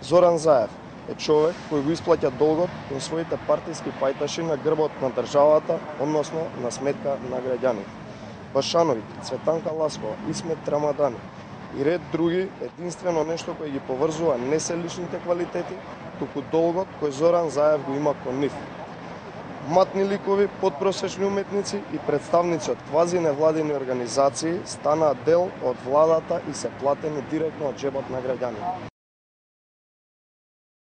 Зоран Заев е човек кој го исплаќа долгот кон своите партиски пајташи на грбот на државата, односно на сметка на граѓаните. Башановиќ, Цветанка Ласкова, Исмет Рамадани и ред други, единствено нешто кој ги поврзува не се личните квалитети, туку долгот кој Зоран Заев го има кон нив. Матни ликови, подпросечни уметници и представници од квази невладини организации станаат дел од владата и се платени директно од џебот на граѓаните.